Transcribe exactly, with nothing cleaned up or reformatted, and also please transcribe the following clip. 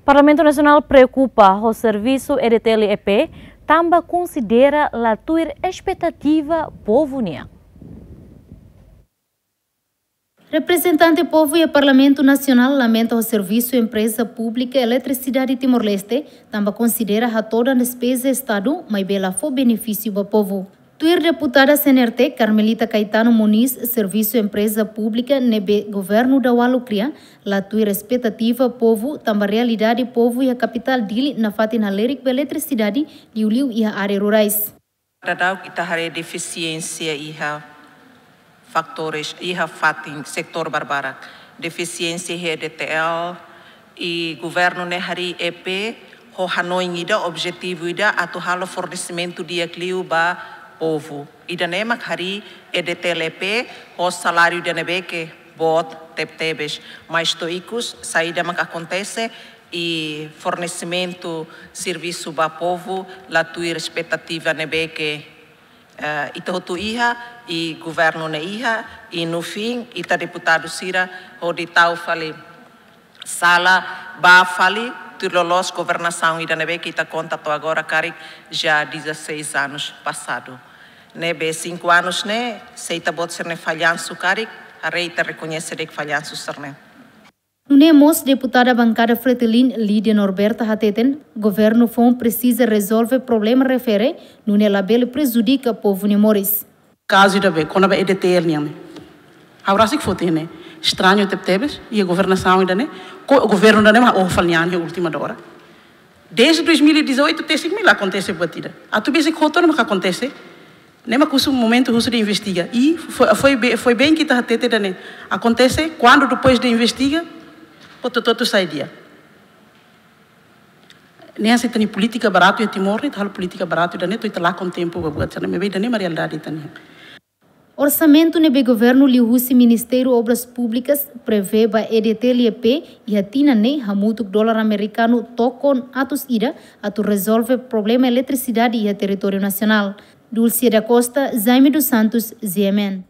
Parlamentu Nasionál preokupa ho servisu E D T L E P, tanba konsidera la tuir espetativa povu nian. Reprezentante povu iha Parlamentu Nasionál lamenta ho servisu empreza públika Eletrisidade Timor-Leste, tanba konsidera hatodan despeza Estadu, maibé la fó benefísiu ba povu. Tuir deputada C N R T, Carmelita Caetano Moniz, servisu empreza públika ne'ebé governu Daualo kria, la tuir espetativa povu, tanba realidade povu iha kapitál Dili nafatin halerik ba eletrisidade, liuliu iha área rurais. Daudauk ita haree defisiénsia iha fatores, iha fatin setór barbarak. Defisiénsia iha E D T L, i governu ne'e harii E P ho hanoin ida, objetivu ida, atu halo fornesimentu di'ak liu ba povu. Ida-ne'e mak harii E D T L E P ho saláriu ida ne'ebé ke boot tebetebes. Mas to'o ikus, saida mak akontese, i fornesimentu servisu ba povu la tuir espetativa ne'ebé ke, eh, ita hotu iha, i governu ne'e iha, i no fim, ita deputadu sira hodi tau fali sala, bá fali, tuir loloos governasaun ida ne'ebé ke ita konta to'o agora karik já dezasseis anos passado. Ne'ebé cinco anos ne'e, se ita-boot sira-nia fallansu karik, haree ita rekoñese de'it fallansu sira-ne'e. Nune'e mós deputada bankada Fretilin, Lídia Norberta hateten, governu foun presiza rezolve problema refere, nune'e labele prejudika povu nia moris. Kazu ida be, kona-ba E D T L nian ne'e. Ha'u rasik foti ne'e. Estrañu tebetebes, iha governasaun ida-ne'e, ko-, governu ida-ne'e mak oho fali nia an iha última da ora. Desde dois mil e dezoito, até cinco mil akontese buat ida. Atu besik hotu ne'e mak akontese. Ne'e mak husu momentu husu de investiga. I foi, foi be-, foi bem que ita hatete ida-ne'e. Akontese, kuandu depois de investiga, hotu-hotu sai di'ak. Ne'e hanesan ita-nia polítika baratu iha Timor, ita halo polítika baratu ida-ne'e, to'o ita lakon tempu ba buat sira-ne'e, maibé ida-ne'e mak realidade ita-nian. Orsamentu ne'ebé governu liuhusi Ministériu Obras Públikas prevee ba E D T L E P iha tinan ne'e hamutuk dolar amerikanu tokon atus ida atu rezolve problema eletrisidade iha territóriu nasionál. Dulce da Costa, Jaime dos Santos, G M N.